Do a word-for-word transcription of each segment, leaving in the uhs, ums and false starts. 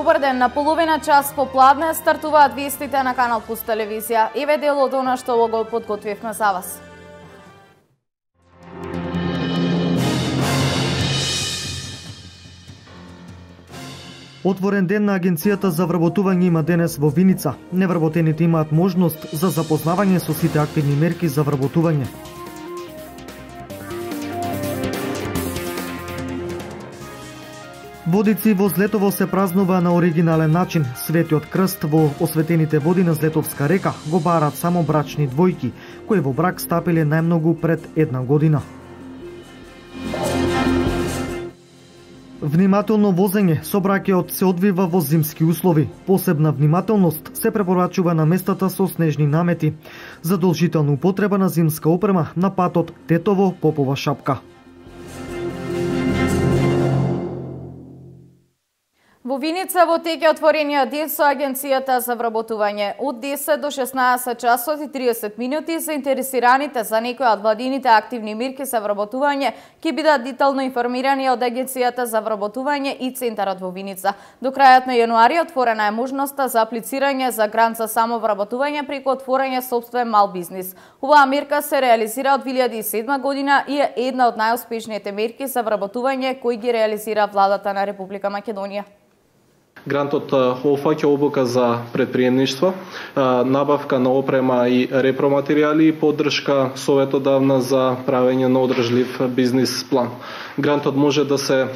Добар ден, на половина час попладне стартуваат вестите на Канал Плюс телевизија. Еве дел од она што го подготвивме за вас. Отворен ден на Агенцијата за вработување има денес во Виница. Невработените имаат можност за запознавање со сите активни мерки за вработување. Водици во Злетово се празнува на оригинален начин. Светиот крст во осветените води на Злетовска река го барат само брачни двојки, кои во брак стапиле најмногу пред една година. Внимателно возење, сообраќајот се одвива во зимски услови. Посебна внимателност се препорачува на местата со снежни намети. Задолжителна употреба на зимска опрема на патот Тетово-Попова шапка. Во Виница во тек е отворениот ден со Агенцијата за вработување. Од десет до шеснаесет часот и триесет минути заинтересираните за некои од владините активни мерки за вработување ќе бидат детално информирани од Агенцијата за вработување и Центарот во Виница. До крајот на јануари отворена е можноста за аплицирање за грант за самовработување преку отворање сопствен мал бизнис. Оваа мерка се реализира од две илјади и седма година и е една од најуспешните мерки за вработување кои ги реализира владата на Република Македонија. Грантот опфаќа обука за предприемништво, набавка на опрема и репроматеријали и поддршка советодавна за правење на одржлив бизнис план. Грантот може да се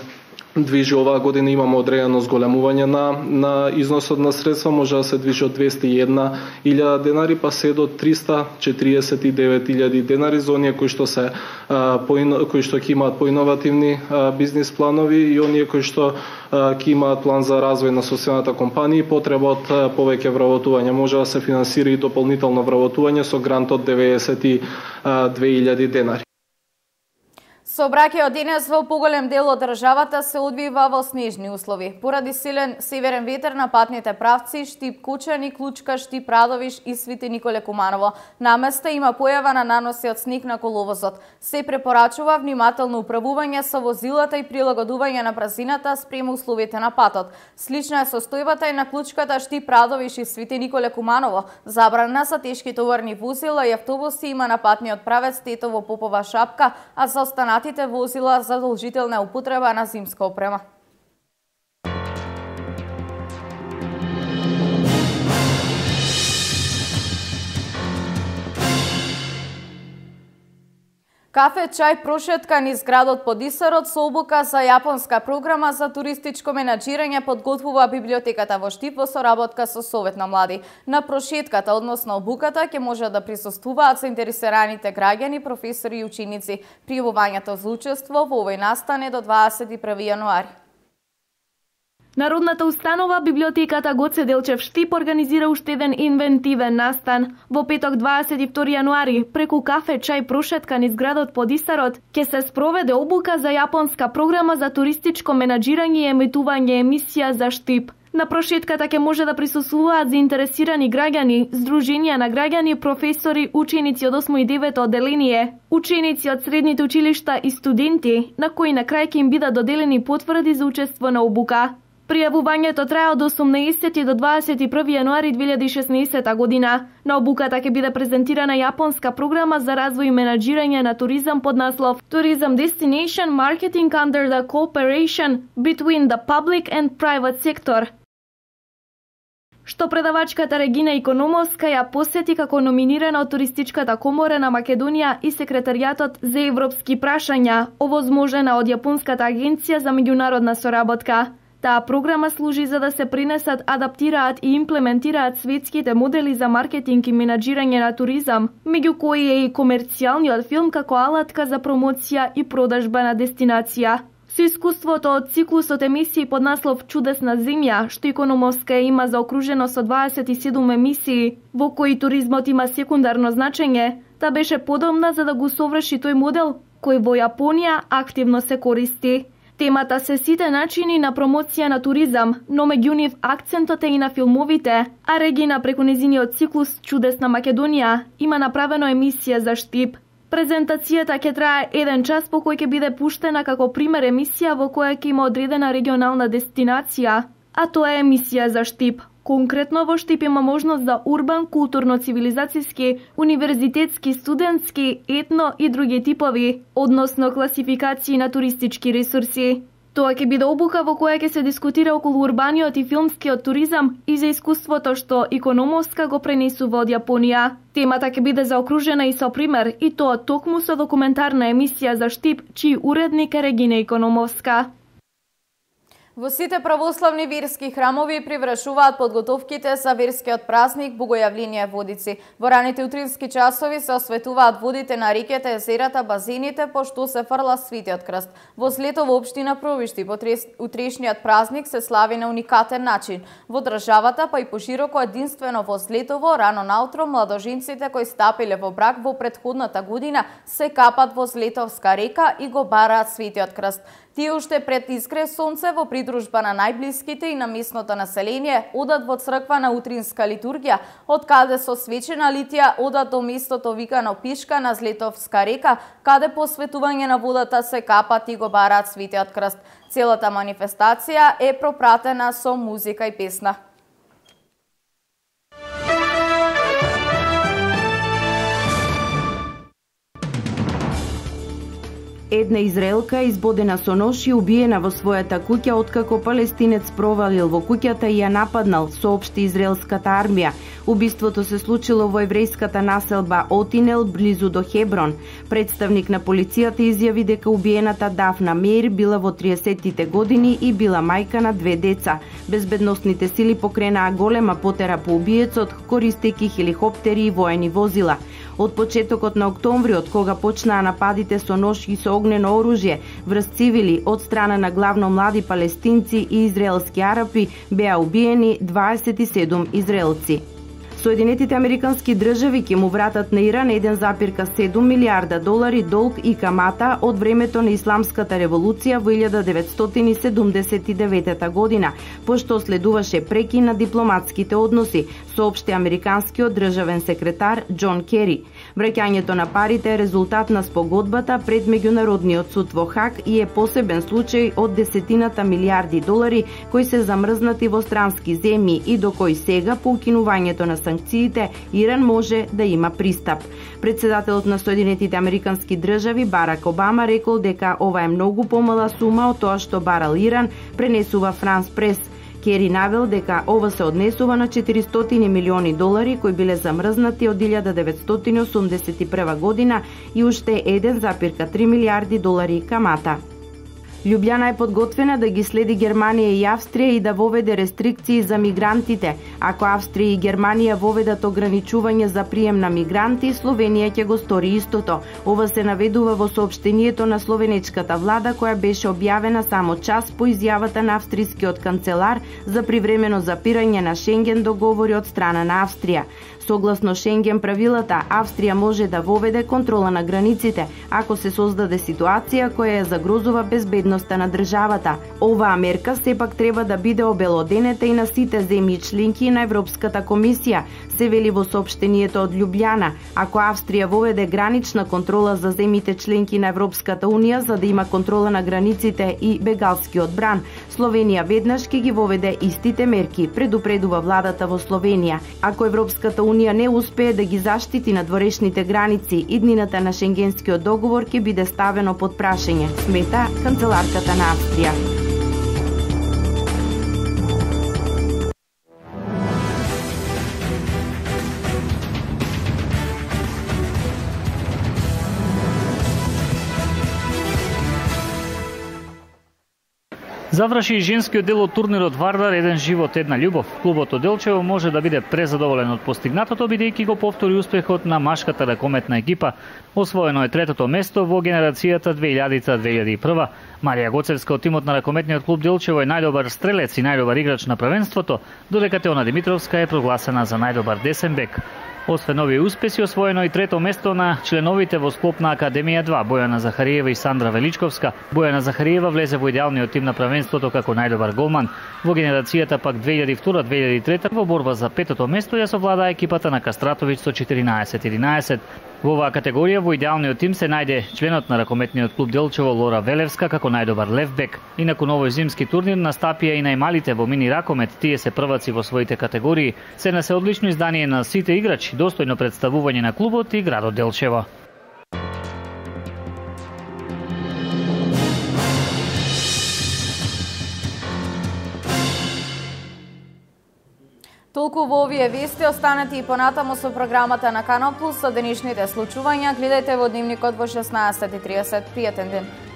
движи оваа година, имаме одредено зголемување на, на износот на средства, може да се движи од двесте и една илјада денари па се до триста четириесет и девет илјади денари за оние кои што се а, поино, кои што ќе имаат поиновативни а, бизнис планови и оние кои што а, ќе имаат план за развој на сопствената компанија и потреба од а, повеќе вработување. Може да се финансира и дополнително вработување со грант од деветдесет и две илјади денари. Сообраќајот денес во поголем дел од државата се одвива во снежни услови. Поради силен северен ветер на патните правци Штип Кучани, Клучка, Штип Радовиш и Свети Николе Куманово. На места има појава на наноси од снег на коловозот. Се препорачува внимателно управување со возилата и прилагодување на брзината спрема условите на патот. Слична е состојбата и на Клучката, Штип Радовиш и Свети Николе Куманово. Забрана за тешки товарни возила и автобуси има на патниот правец Тетово-Попова шапка, а за останатите возила задолжителна употреба на зимска опрема. Кафе, чај, прошетка низ градот под Исарот со обука за јапонска програма за туристичко менаџирање подготвува библиотеката во Штип во соработка со Совет на млади. На прошетката, односно обуката, ќе може да присуствуваат заинтересираните граѓани, професори и ученици. Пријавувањето за учество во овој настан е до дваесет и први јануари. Народната установа библиотеката Гоце Делчев Штип организира уште еден инвентивен настан. Во петок дваесет и втори јануари, преку кафе, чај, прошетка низ градот под Исарот, ќе се спроведе обука за јапонска програма за туристичко менаџирање и емитување емисија за Штип. На прошетката ќе може да присуствуваат заинтересирани граѓани, здруженија на граѓани, професори, ученици од осмо и девето одделение, ученици од средните училишта и студенти, на кои на крај ќе им бидат доделени потврди за учество на обука. Пријавувањето трае од осумнаесети до дваесет и први јануари две илјади и шеснаесета година. На обуката ќе биде презентирана јапонска програма за развој и менаџирање на туризам под наслов Tourism Destination Marketing under the Cooperation between the Public and Private Sector, што предавачката Регина Икономовска ја посети како номинирана од Туристичката комора на Македонија и секретаријатот за европски прашања, овозможена од Јапонската агенција за меѓународна соработка. Таа програма служи за да се пренесат, адаптираат и имплементираат светските модели за маркетинг и менаџирање на туризам, меѓу кои е и комерцијалниот филм како алатка за промоција и продажба на дестинација. Со искуството од циклусот емисии под наслов Чудесна земја, што Икономовска има заокружено со дваесет и седум емисии, во кои туризмот има секундарно значење, та беше подобна за да го соврши тој модел кој во Јапонија активно се користи. Темата се сите начини на промоција на туризам, но меѓу нив акцентот е и на филмовите, а Регина преку незиниот циклус Чудесна Македонија има направено емисија за Штип. Презентацијата ќе трае еден час, по кој ќе биде пуштена како пример емисија во која ќе има одредена регионална дестинација, а тоа е емисија за Штип. Конкретно во Штип има можност за урбан, културно-цивилизацијски, универзитетски, студентски, етно и други типови, односно класификации на туристички ресурси. Тоа ќе биде обука во која ќе се дискутира околу урбаниот и филмскиот туризам и за искуството што Икономовска го пренесува од Јапонија. Темата ќе биде заокружена и со пример, и тоа токму со документарна емисија за Штип, чиј уредник е Регина Икономовска. Во сите православни верски храмови привршуваат подготовките за верскиот празник Богојавление Водици. Во раните утрински часови се осветуваат водите на реките, езерата, базените, пошто се фрла Светиот крст. Во Слетово општина Провишти утрешниот празник се слави на уникатен начин. Во државата, па и пошироко единствено во Слетово, рано наутро младоженците кои стапиле во брак во претходната година се капат во Слетовска река и го бараат Светиот крст. Тие уште пред искре сонце во придружба на најблиските и на местното население одат во црква на утринска литургија, од каде со свечена литија одат до местото викано Пишка на Злетовска река, каде по светување на водата се капат и го бараат Светиот крст. Целата манифестација е пропратена со музика и песна. Една израелка избодена со нож и убиена во својата куќа откако палестинец провалил во куќата и ја нападнал, соопшти израелската армија. Убиството се случило во еврејската населба Отинел близу до Хеброн. Представник на полицијата изјави дека убиената Дафна Меир била во триесеттите години и била мајка на две деца. Безбедносните сили покренаа голема потера по убиецот, користејќи хеликоптери и воени возила. Од почетокот на октомври, од кога почнаа нападите со нож и со огнено оружје врз цивили од страна на главно млади палестинци и израелски арапи, беа убиени дваесет и седум израелци. Соединетите американски држави ќе му вратат на Иран еден запирка седум милиарда долари долг и камата од времето на Исламската револуција во илјада деветстотини седумдесет и девета година, пошто следуваше прекин на дипломатските односи, соопшти американскиот државен секретар Џон Кери. Враќањето на парите е резултат на спогодбата пред Меѓународниот суд во Хаг и е посебен случај од десетината милиарди долари кои се замрзнати во странски земји и до кои сега по укинувањето на санкциите Иран може да има пристап. Председателот на Соединетите американски држави Барак Обама рекол дека ова е многу помала сума од тоа што барал Иран, пренесува Франс Прес. Кери навел дека ова се однесува на четиристотини милиони долари кои биле замрзнати од илјада деветстотини осумдесет и прва година и уште еден запирка три милиарди долари камата. Лјубљана е подготвена да ги следи Германија и Австрија и да воведе рестрикции за мигрантите. Ако Австрија и Германија воведат ограничување за прием на мигранти, Словенија ќе го стори истото. Ова се наведува во соопштението на словенечката влада која беше објавена само час по изјавата на австрискиот канцелар за привремено запирање на Шенген договори од страна на Австрија. Согласно Шенген правилата, Австрија може да воведе контрола на границите ако се создаде ситуација која ја загрозува безбедноста на државата. Оваа мерка сепак треба да биде обелоденета и на сите земји членки на Европската комисија, се вели во соопштението од Лјубљана. Ако Австрија воведе гранична контрола за земјите членки на Европската унија за да има контрола на границите и бегалскиот бран, Словенија веднаш ќе ги воведе истите мерки, предупредува владата во Словенија. Ако Европската унија не успее да ги заштити надворешните граници, иднината на Шенгенскиот договор ќе биде ставено под прашање, смета канцеларката на Австрија. Заврши и женскиот дел од турнирот Вардар еден живот, една љубов. Клубот од Делчево може да биде презадоволен од постигнатото, бидејќи го повтори успехот на машката ракометна екипа. Освоено е третото место во генерацијата две илјади - две илјади и прва. Марија Гоцевска од тимот на ракометниот клуб Делчево е најдобар стрелец и најдобар играч на првенството, додека Теона Димитровска е прогласена за најдобар десен бек. Освен овие успеси, освоено и трето место на членовите во склоп на Академија два, Бојана Захариева и Сандра Величковска. Бојана Захариева влезе во идеалниот тим на првенството како најдобар голман. Во генерацијата пак две илјади и втора - две илјади и трета во борба за петото место ја совладаа екипата на Кастратовиќ со четиринаесет единаесет. Во оваа категорија во идеалниот тим се најде членот на ракометниот клуб Делчево Лора Велевска како најдобар левбек. Инаку на овој зимски турнир настапија и најмалите во мини ракомет, тие се прваци во своите категории. Се на се одлично издание на сите играчи, достојно представување на клубот и градот Делчево. Толку во овие вести, останете и понатаму со програмата на Канал Плюс со денешните случувања. Гледајте во дневникот во шеснаесет и тридесет. Пријатен ден!